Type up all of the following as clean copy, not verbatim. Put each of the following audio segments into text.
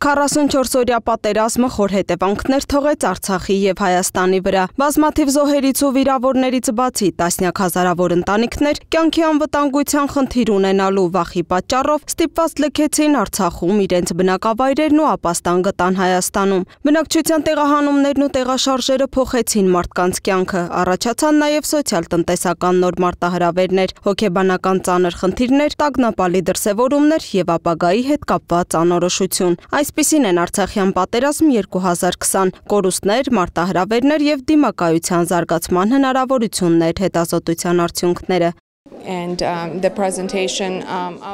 44-օրյա պատերազմը խոր հետևանքներ թողեց Արցախի և Հայաստանի վրա։ Բազմաթիվ զոհերից ու վիրավորներից բացի տասնյակ հազարավոր ընտանիքներ կյանքի անվտանգության խնդիր ունենալու վախի պատճառով ստիպված լքեցին Արցախում իրենց բնակավայրերն ու ապաստան գտան Հայաստանում։ Բնակչության տեղահանումներն ու տեղաշարժերը փոխեցին մարդկանց կյանքը, առաջացան նաև սոցիալ-տնտեսական նոր մարտահրավերներ, հոգեբանական ծանր խնդիրներ, տագնապալի դրսևորումներ և ապագայի հետ կապված անորոշություն։ Այսպիսին են Արցախյան պատերազմ 2020, կորուստներ, մարտահրավերներ և դիմակայության զարգացման հնարավորություններ, հետազոտության արդյունքները։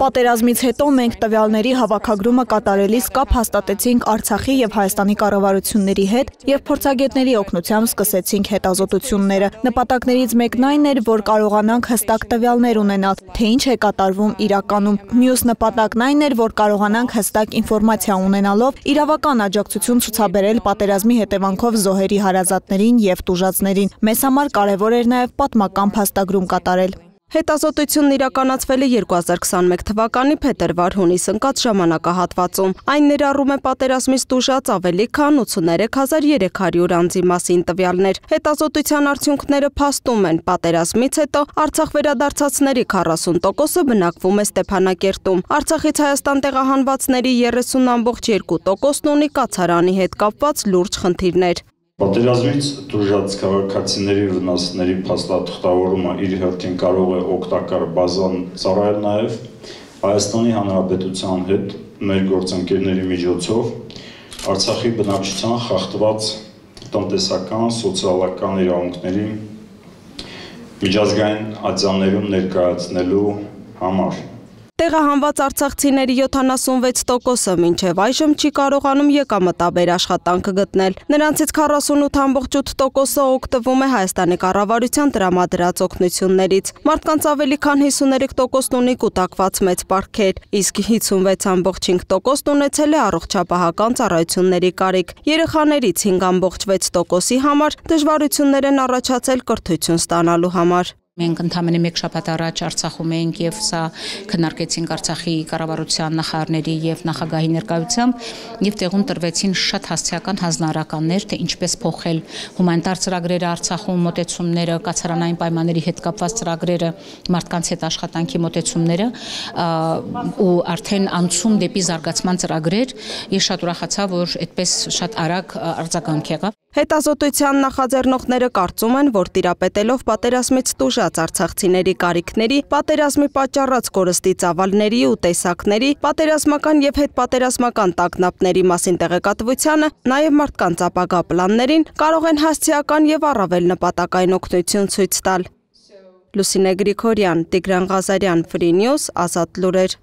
Պատերազմից հետո մենք տվյալների հավաքագրումը կատարելիս կապ հաստատեցինք Արցախի և Հայաստանի կառավարությունների հետ և փորձագետների օգնությամբ սկսեցինք հետազոտությունները։ Նպատակներից մեկն այն էր, որ կարողանանք հստակ տվյալներ ունենալ, թե ինչ է կատարվում իրականում։ Մյուս նպատակն այն էր, որ կարողանանք հստակ ինֆորմացիա ունենալով իրավական աջակցություն ցուցաբերել պատերազմի հետևանքով զոհերի հարազատներին և տուժածներին։ Մեզ համար կարևոր էր նաև պատմական փաստագրում կատարել։ Հետազոտությունն իրականացվել է 2021 թվականի փետրվար-հունիս ընկած ժամանակահատվածում։ Այն ներառում է պատերազմից տուժած ավելի քան 83300 անձի մասին տվյալներ։ Հետազոտության արդյունքները փաստում են, պատերազմից հետո Արցախ վերադարձածների 40%-ը բնակվում է Ստեփանակերտում։ Արցախից Հայաստան տեղահանվածների 30.2%-ն ունի կացարանի հետ կապված լուրջ խնդիրներ։ Պատերազմից տուժած քաղաքացիների վնասների փաստաթղթավորումը իր հերթին կարող է օգտակար բազան ծառայել նաև Հայաստանի Հանրապետության հետ մեր գործընկերների միջոցով Արցախի բնակչության խախտված տնտեսական, սոցիալական իրավունքների միջազգային ատյաններում ներկայացնելու համար։ Տեղահանված արցախցիների 76%-ը մինչև այժմ չի կարողանում եկամտաբեր աշխատանք գտնել։ Նրանցից 48.8%-ը օգտվում է Հայաստանի կառավարության տրամադրած օգնություններից։ Մարդկանց ավելի քան 53%-ն ունի կուտակված մեծ պարտքեր, իսկ 56.5%-ն ունեցել է առողջապահական ծառայությունների կարիք։ Երեխաներից 5.6%-ի համար դժվարություններ են առաջացել կրթություն ստանալու համար։ Մենք ընդամենը մեկ շաբաթ առաջ Արցախում էինք և սա քննարկեցինք Արցախի կառավարության նախարարների և նախագահի ներկայությամբ և տեղում տրվեցին շատ հասցեական հանձնարարականներ, թե ինչպես փոխել հումանիտար ծրագրերը Արցախում, մոտեցումները, կացարանային պայմանների հետ կապված ծրագրերը, մարդկանց հետ աշխատանքի մոտեցումները ու արդեն անցում դեպի զարգացման ծրագրեր։ Ես շատ ուրախացա, որ այդպես շատ արագ արձագանք եղավ։ Հետազոտության նախաձեռնողները կարծում են, որ տիրապետելով պատերազմից տուժած արցախցիների կարիքների, պատերազմի պատճառած կորստի ծավալների ու տեսակների, պատերազմական և հետպատերազմական տագնապների մասին տեղեկատվությանը, նաև մարդկանց ապագա պլաններին կարող են հասցեական և առավել նպատակային օգնություն ցույց տալ։ Լուսինե Գրիգորյան, Տիգրան Ղազարյան, Free News, Ազատ լուրեր։